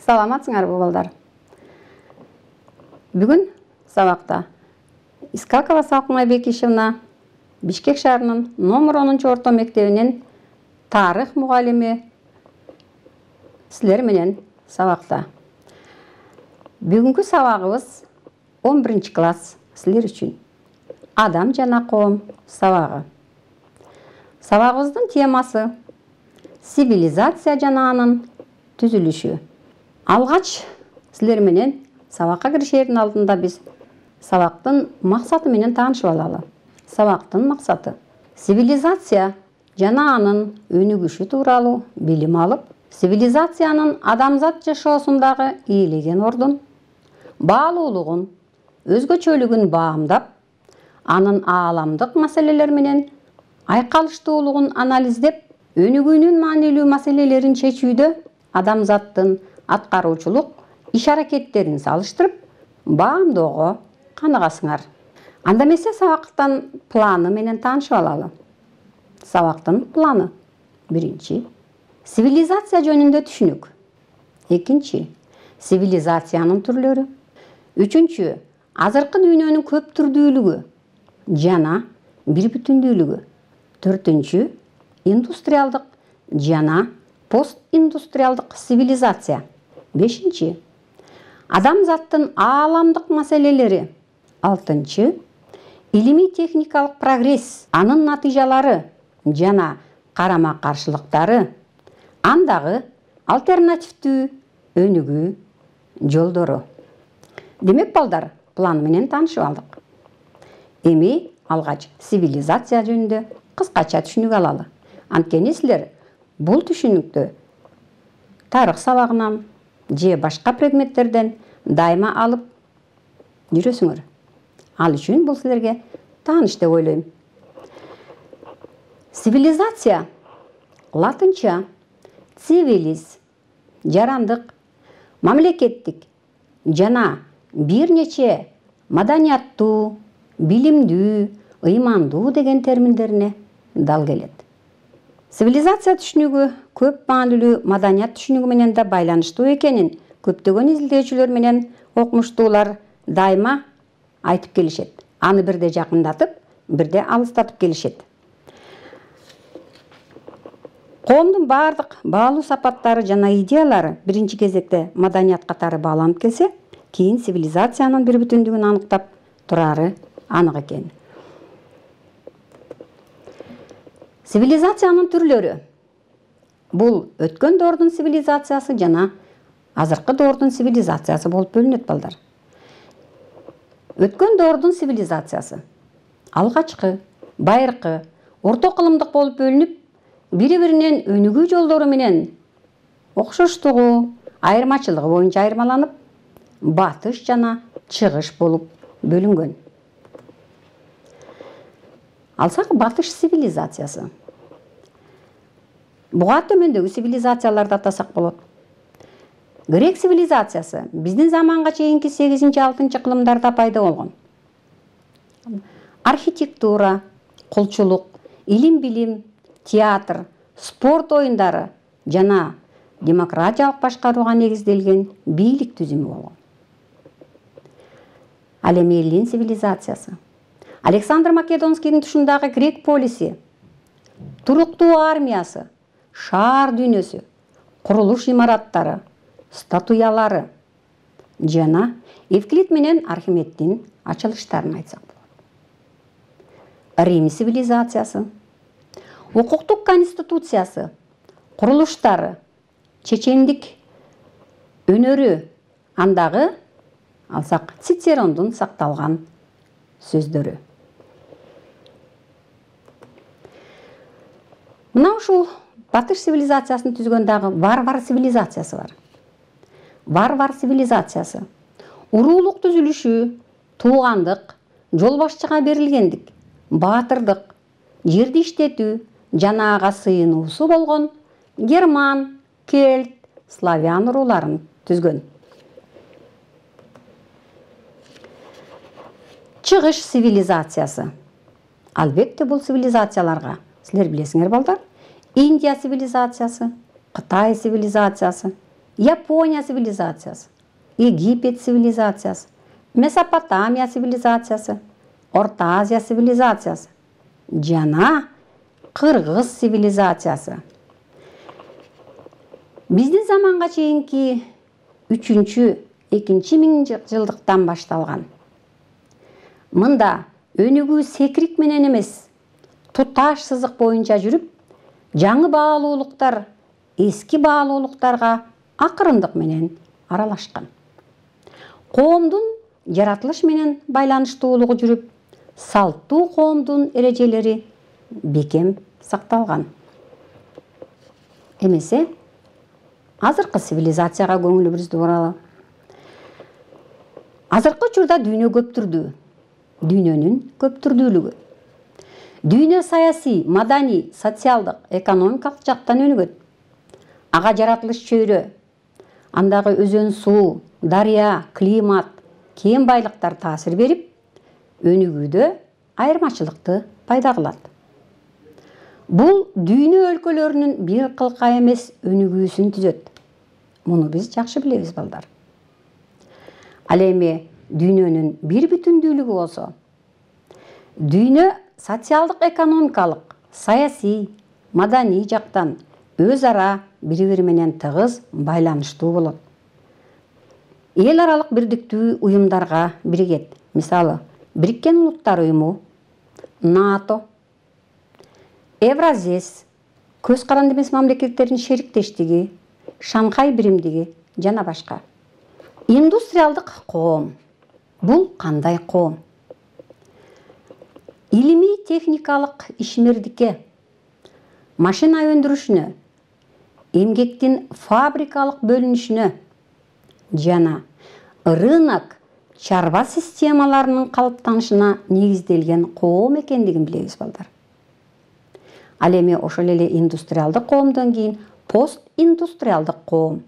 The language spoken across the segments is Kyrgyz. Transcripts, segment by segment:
Саламатсыңарбы балдар? Бүгүн сабакта Искакова Салкынай Бекишевна Бишкек шаарынын номер 10 орто мектебинин тарых мугалими силер менен сабакта. Бүгүнкү сабагыбыз 11 класс силер үчүн. Адам жана коом сабагы. Сабагыбыздын темасы цивилизация жана анын түзүлүшү. Алгач силер менен сабакка киришердин алдында биз сабактын максаты менен таанышып алалы. Сабактын максаты цивилизация жана анын өнүгүшү тууралуу билим алып, цивилизациянын адамзат жашоосундагы ээлеген ордун, баалуулугун, өзгөчөлүгүн баамдап, анын ааламдык маселелер менен айкалыштуулугун анализдеп, өнүгүүнүн маанилүү маселелерин чечүүдө адамзаттын аткаруучулук иш-аракеттерин салыштырып, баамдоого каныгасыңар. Анда эмесе сабактын планы менен таанышып алалы. Сабактын планы. 1. Цивилизация жөнүндө түшүнүк. 2. Цивилизациянын түрлөрү. 3. Азыркы дүйнөнүн көп түрдүүлүгү жана бир бүтүндүүлүгү. 4. Индустриалдык жана постиндустриалдык цивилизация. 5. Адамзаттын ааламдык маселелери. 6. Илимий техникалык прогресс, анын натыйжалары жана карама-каршылыктары, андагы альтернативдүү өнүгүү жолдору. Демек балдар, план менен таанышып алдык. Эми алгач цивилизация жөнүндө кыскача түшүнүк алалы. Анткени силер бул түшүнүктү тарых сабагынан же башка предметтерден дайыма алып жүрөсүңөр. Ал үчүн бул силерге тааныш деп ойлойм. Цивилизация латынча civilis жарандык, мамлекеттик жана бир нече маданияттуу, билимдүү, ыймандуу деген терминдерине дал келет. Цивилизация түшүнүгү көп маанилүү маданият түшүнүгү менен да байланыштуу экенин көптөгөн изилдөөчүлөр менен окумуштуулар дайыма айтып келишет. Аны бирде жакындатып, бирде алыстатып келишет. Коомдун бардык баалуу сапаттары жана идеялары биринчи кезекте маданият катары бааланып келсе, кийин цивилизациянын бир бүтүндүгүн аныктап турары анык экен. Цивилизациянын түрлөрү. Бул өткөн доордун цивилизациясы жана азыркы доордун цивилизациясы болуп бөлүнөт балдар. Өткөн доордун цивилизациясы алгачкы, байыркы, орто кылымдык болуп бөлүнүп, бири-биринен өнүгүү жолдору менен окшоштугу, айырмачылыгы боюнча айырмаланып, батыш жана чыгыш болуп бөлүнгөн. Алсак батыш цивилизациясы. Буга төмөндөгү цивилизацияларды атасак болот. Грек цивилизациясы биздин заманга чейинки 8-6 кылымдарда пайда болгон. Архитектура, кулчулук, илим-билим, театр, спорт оюндары жана демократиялык башкарууга негизделген бийлик түзүмү болгон. Ал эми Эллин цивилизациясы. Александр Македонскийдин тушундагы грек полиси, туруктуу армиясы, шаар дүйнөсү, курулуш имараттары, статуялары жана Евклид менен Архимеддин ачылыштарын айтсак болот. Рим цивилизациясы. Укуктук конституциясы, курулуштары, чечендик өнөрү, андагы алсак Цицерондун сакталган сөздөрү. Мына ушул батыш цивилизациясын түзгөн дагы варвар цивилизациясы бар. Варвар цивилизациясы уруулук түзүлүшү, туугандык, жол башчыга берилгендик, баатырдык, жерди иштетүү жана ага сыйынуусу болгон герман, кельт, славян урууларын түзгөн. Чыгыш цивилизациясы. Албетте бул цивилизацияларга силер билесиңер балдар, Индия цивилизациясы, Кытай цивилизациясы Япония цивилизациясы, Египет цивилизациясы, Месопотамия цивилизациясы, Орта Азия цивилизациясы жана Кыргыз цивилизациясы. Биздин заманга чейинки 3-2 миңжылдыктан башталган. Мында өнүгүү секирик менен эмес, туташ сызык боюнча жүрүп, жаңы баалуулуктар эски баалуулуктарга акырындык менен аралашкан. Коомдун жаратылыш менен байланыштуулугу жүрүп, салттуу коомдун эрежелери бекем сакталган. Эмесе, азыркы цивилизацияга көңүлүбүздү буралы. Азыркы учурда дүйнө көптүрдүү. Дүйнөнүн көптүрдүүлүгү. Дүйнө саясий, маданий, социалдык, экономикалык жактан өнүгөт. Ага жаратылыш чөйрө, андагы өзөн суу, дарыя, климат, кен байлыктар таасир берип, өнүгүүдө айырмачылыкты пайда кылат. Бул дүйнө өлкөлөрүнүн бир кылка эмес өнүгүүсүн түзөт. Муну биз жакшы билебиз, балдар. Ал эми дүйнөнүн бир бүтүндүүлүгү болсо, дүйнө социалдык, экономикалык, саясий, маданий жактан өз ара бири-бири менен тыгыз байланыштуу болот. Эл аралык бирдиктүү уюмдарга биригет. Мисалы, Бириккен Улуттар уюму, НАТО, Евразес, көз каранды эмес мамлекеттердин шериктештиги, Шанхай биримдиги жана башка. Индустриалдык коом. Бул кандай коом? Илимий техникалык ишмердикке, машина өндүрүшүнө, эмгектин фабрикалык бөлүнүшүнө жана рынок чарба системаларынын калыптанышына негизделген коом экендигин билебиз, балдар. Ал эми ошол эле индустриалдык коомдон кийин постиндустриалдык коом.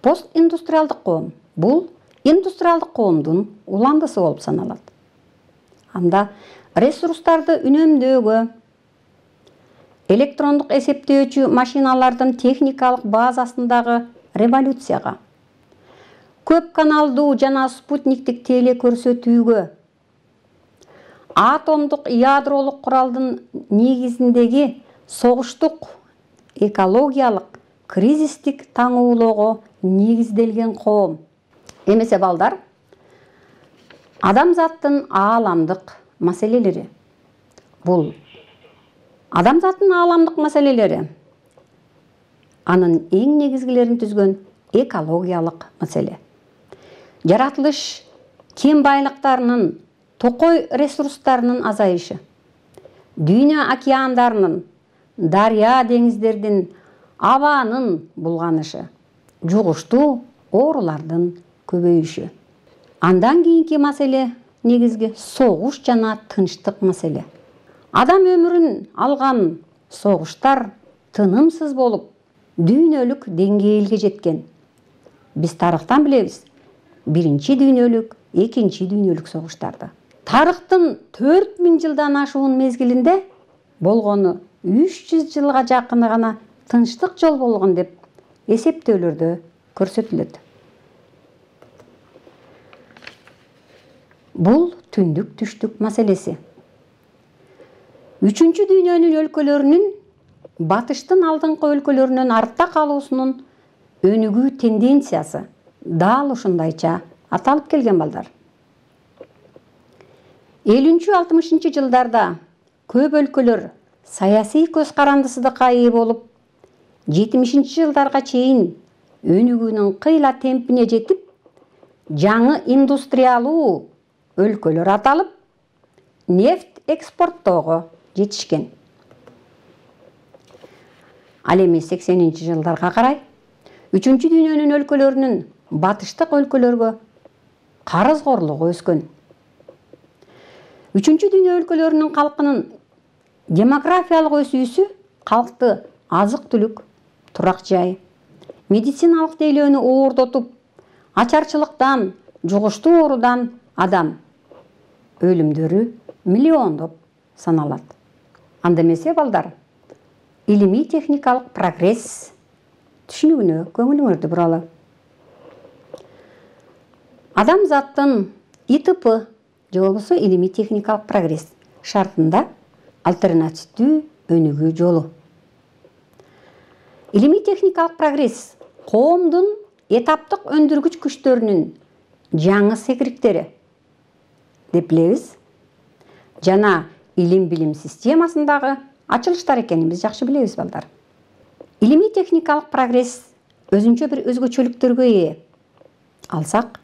Постиндустриалдык коом бул индустриалдык коомдун уландысы болуп саналат. Анда ресурстарды үнөмдөөгө, электрондук эсептөөчү машиналардын техникалык базасындагы революцияга, көп каналдуу жана спутниктик теле көрсөтүүгө, атомдук ядролук куралдын негизиндеги согуштук экологиялык кризистик таңуулоого негизделген коом. Эмесе, балдар, адамзаттын ааламдык маселелери. Бул адамзаттын ааламдык маселелери анын эң негизгилерин түзгөн экологиялык маселе. Жаратылыш кен байлыктарынын, токой ресурстарынын азайышы, дүйнө океандарынын, дарыя деңиздердин, абанын булганышы, жугуштуу оорулардын көбөйүшү. Андан кийинки маселе негизги согуш жана тынчтык маселе. Адам өмүрүн алган согуштар тынымсыз болуп, дүйнөлүк деңгээлге жеткен. Биз тарыхтан билебиз, биринчи дүйнөлүк, экинчи дүйнөлүк согуштарды. Тарыхтын 4000 жылдан ашуун мезгилинде болгону 300 жылга жакыны гана тынчтык жол болгон деп эсептөөлөрдө көрсөтүлөт. Бул түндүк түштүк маселеси. Үчүнчү дүйнөнүн өлкөлөрүнүн батыштын алдыңкы өлкөлөрүнөн артта калуусунун өнүгүү тенденциясы дал ушундайча аталып келген, балдар. 50-60 жылдарда көп өлкөлөр саясий көз карандысыздыкка ээ болуп, 70 жылдарга чейин өнүгүүнүн кыйла темпине жетип, жаңы индустриалуу өлкөлөр аталып, нефть экспорттоого жетишкен. Ал эми 80 жылдарга карай 3-чү дүйнөнүн өлкөлөрүнүн батыштык өлкөлөргө карызгорлугу өскөн. 3-чү дүйнө өлкөлөрүнүн калкынын демографиялык өсүүсү калкты азык-түлүк, турак жай, медициналык тейлөөнү оордотуп, ачарчылыктан, жугуштуу оорудан адам өлүмдөрү миллиондоп саналат. Анда эмесе, балдар, илимий техникалык прогресс түшүнүгүнө көңүлүңөрдү буралы. Адамзаттын ИТП же болбосо илимий техникалык прогресс шартында альтернативдүү өнүгүү жолу. Илимий техникалык прогресс коомдун этаптык өндүргүч күчтөрүнүн жаңы секириктери деп билебиз жана илим билим системасындагы ачылыштар экенин биз жакшы билебиз балдар. Илимий техникалык прогресс өзүнчө бир өзгөчөлүктөргө ээ. Алсак,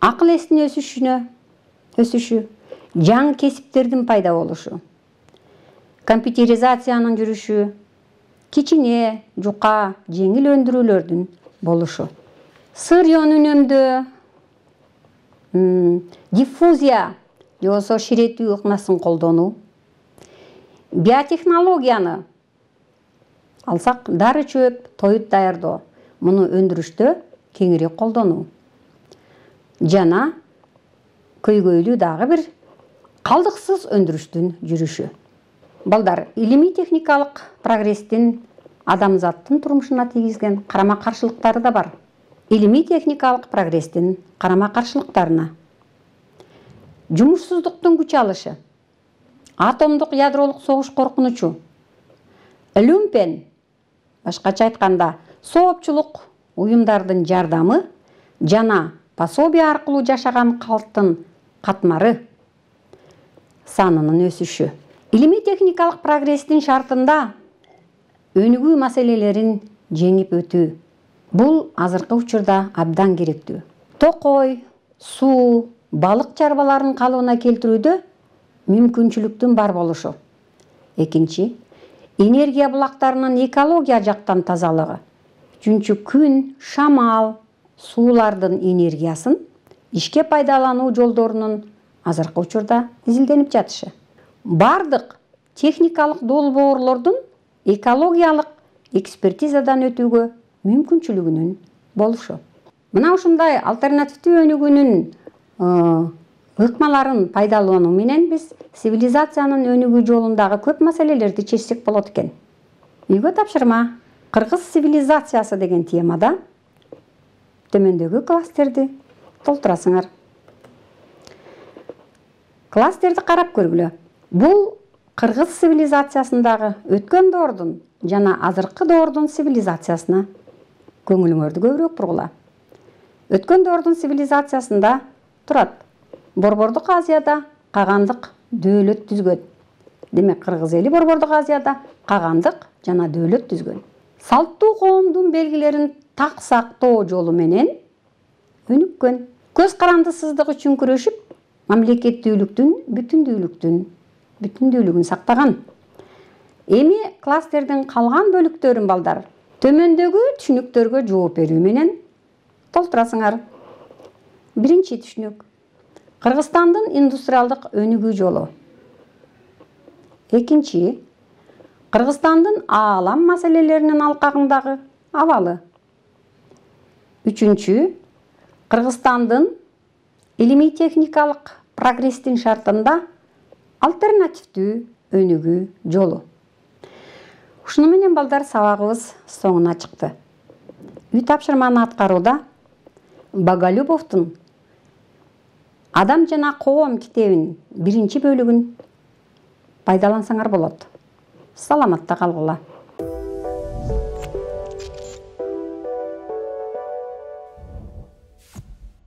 акыл эстин өсүшү, жаңы кесиптердин пайда болушу, компьютеризациянын жүрүшү, кичине, жука, жеңил өндүрүүлөрдүн болушу, сырьён үнөмдөө, диффузия же болбосо ширетүү ыкмасын колдонуу, биотехнологияны алсак, дары чөп, тоют даярдоо, муну өндүрүштө кеңирээк колдонуу жана көйгөйлүү дагы бир калдыксыз өндүрүштүн жүрүшү. Балдар, илимий техникалык прогресстин адамзаттын турмушуна тийгизген карама-каршылыктары да бар. Илимий техникалык прогресстин карама-каршылыктарына: жумушсуздуктун күч алышы, атомдук ядролук согуш коркунучу, люмпен, башкача айтканда, соопчулук уюмдардын жардамы жана пособие аркылуу жашаган калктын катмары санынын өсүшү. Илимий техникалык прогресстин шартында өнүгүү маселелерин жеңип өтүү. Бул азыркы учурда абдан керектүү. Токой, суу, балык чарбаларын калыбына келтирүүдө мүмкүнчүлүктүн бар болушу. Экинчи, энергия булактарынын экология жактан тазалыгы. Үчүнчү, күн, шамал, суулардын энергиясын ишке пайдалануу жолдорунун азыркы учурда изилденип жатышы. Бардык техникалык долбоорлордун экологиялык экспертизадан өтүүгө мүмкүнчүлүгүнүн болушу. Мына ушундай альтернативдүү өнүгүүнүн ыкмаларын пайдалануу менен биз цивилизациянын өнүгүү жолундагы көп маселелерди чечсек болот экен. Үйгө тапшырма: кыргыз цивилизациясы деген темада төмөндөгү класстерди толтурасыңар. Класстерди карап көргүлө. Бул кыргыз цивилизациясындагы өткөн доордун жана азыркы доордун цивилизациясына көңүлүңөрдү көбүрөөк бургула. Өткөн доордун цивилизациясында турат. Борбордук Азияда кагандык дөөлөт түзгөн. Демек, кыргыз эли Борбордук Азияда кагандык жана дөөлөт түзгөн. Салттуу коомдун белгилерин так сактоо жолу менен өнүккөн. Көз карандысыздык үчүн күрөшүп, мамлекеттүүлүктүн бүтүндүүлүгүн сактаган. Эми класстердин калган бөлүктөрүн балдар төмөндөгү түшүнүктөргө жооп берүү менен толтурасыңар. Биринчи түшүнүк: Кыргызстандын индустриалдык өнүгүү жолу. Экинчи: Кыргызстандын аалам маселелеринин алкагындагы абалы. Үчүнчү: Кыргызстандын илимий техникалык прогресстин шартында альтернативдүү өнүгүү жолу. Ушуну менен балдар сабагыбыз соңуна чыкты. Үй тапшырманы аткарууда Боголюбовдун «Адам жана коом» китебинин биринчи бөлүгүн пайдалансаңар болот. Саламатта калгыла.